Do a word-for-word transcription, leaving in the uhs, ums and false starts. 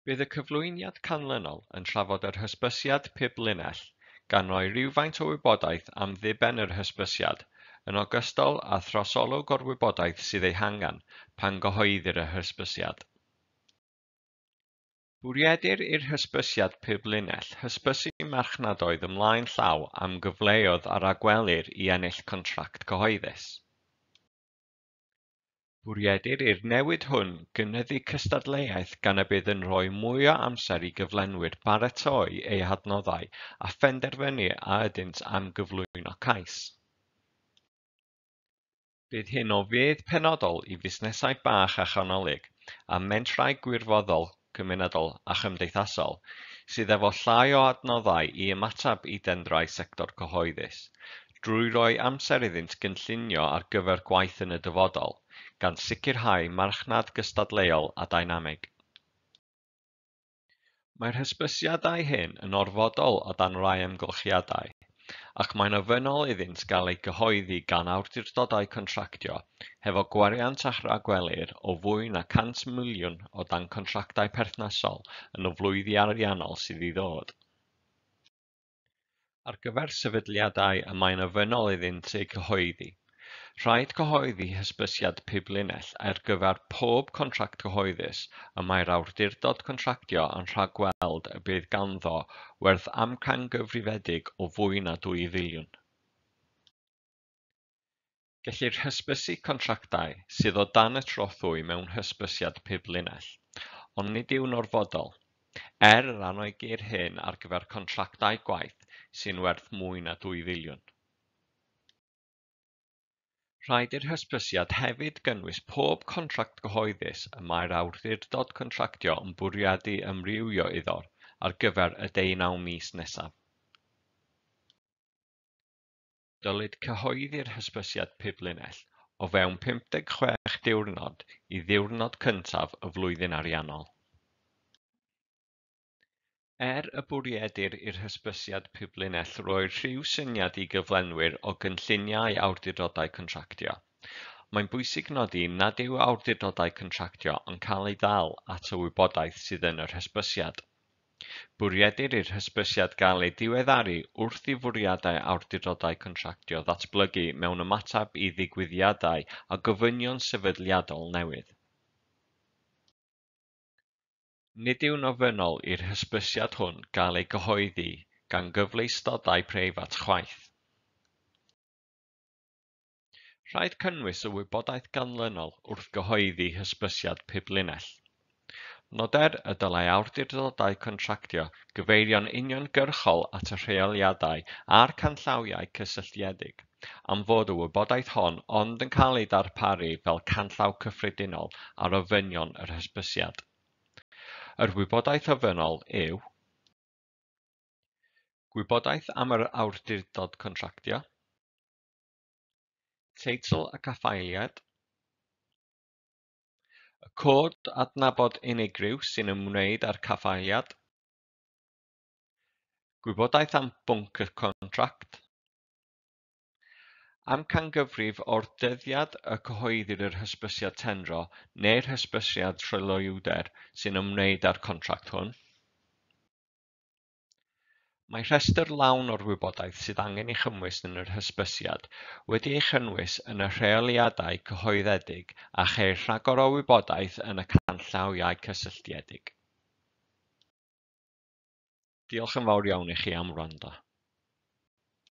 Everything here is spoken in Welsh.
Bydd y cyflwyniad canlynol yn trafod yr hysbysiad piblinell, gan roi rhywfaint o wybodaeth am ddiben yr hysbysiad, yn ogystal â throsolwg o'r wybodaeth sydd ei hangen pan gyhoeddir yr hysbysiad. Bwriedir i'r hysbysiad piblinell hysbysu marchnadoedd ymlaen llaw am gyfleoedd a ragwelir i ennill contract cyhoeddus. Bwriedir i'r newid hwn gynyddu cystadleuaeth gan y bydd yn rhoi mwy o amser i gyflenwyr baratoi eu hadnoddau a phenderfynu a ydynt am gyflwyno cais. Bydd hyn o fudd penodol i fusnesau bach a chanolig a mentrau gwirfoddol, cymunedol a chymdeithasol sydd efo llai o adnoddau i ymateb i dendrau sector cyhoeddus, drwy roi amser iddynt gynllunio ar gyfer gwaith yn y dyfodol, gan sicrhau marchnad gystadleuol a dynamig. Mae'r hysbysiadau hyn yn orfodol o dan rai amgylchiadau, ac mae'n ofynnol iddynt gael eu cyhoeddi gan awdurdodau contractio hefo gwariant a ragwelir o fwy na cant miliwn o dan contractau perthnasol yn y flwyddyn ariannol sydd i ddod. Ar gyfer sefydliadau y mae'n ofynnol iddynt eu cyhoeddi, rhaid cyhoeddi hysbysiad piblinell ar gyfer pob contract cyhoeddus y mae'r awdurdod contractio yn rhagweld y bydd ganddo werth amcangyfrifedig o fwy na dwy filiwn. Gellir hysbysu contractau sydd o dan y trothwy mewn hysbysiad piblinell, ond nid yw'n orfodol, er yr anogir hyn ar gyfer contractau gwaith sy'n werth mwy na dwy filiwn. Rhaid i'r hysbysiad hefyd gynnwys pob contract cyhoeddus y mae'r awdurdod contractio yn bwriadu amrywio iddo ar gyfer y deunaw mis nesaf. Dylid cyhoeddi'r hysbysiad piblinell o fewn pum deg chwech diwrnod i ddiwrnod cyntaf y flwyddyn ariannol. Er y bwriedir i'r hysbysiad piblinell roi rhyw syniad i gyflenwyr o gynlluniau awdurdodau contractio, mae'n bwysig nodi nad yw awdurdodau contractio yn cael ei ddal at y wybodaeth sydd yn yr hysbysiad. Bwriedir i'r hysbysiad gael ei diweddaru wrth i fwriadau awdurdodau contractio ddatblygu mewn ymateb i ddigwyddiadau a gofynion sefydliadol newydd. Nid yw'n ofynnol i'r hysbysiad hwn gael ei gyhoeddi gan gyfleustodau preifat chwaith. Rhaid cynnwys y wybodaeth ganlynol wrth gyhoeddi hysbysiad piblinell. Noder y dylai awdurdodau contractio gyfeirio'n uniongyrchol at y rheoliadau a'r canllawiau cysylltiedig, am fod y wybodaeth hon ond yn cael ei darparu fel canllaw cyffredinol ar ofynion yr hysbysiad. Yr wybodaeth ofynnol yw gwybodaeth am yr awdurdod contractio, teitl y caffaeliad, y cod adnabod unigryw sy'n ymwneud â'r caffaeliad, gwybodaeth am bwnc y contract, amcangyfrif o'r dyddiad y cyhoeddir yr hysbysiad tendro neu'r hysbysiad tryloywder sy'n ymwneud â'r contract hwn. Mae rhestr lawn o'r wybodaeth sydd angen ei chynnwys yn yr hysbysiad wedi ei chynnwys yn y rheoliadau cyhoeddedig a cheir rhagor o wybodaeth yn y canllawiau cysylltiedig. Diolch yn fawr iawn i chi am wrando.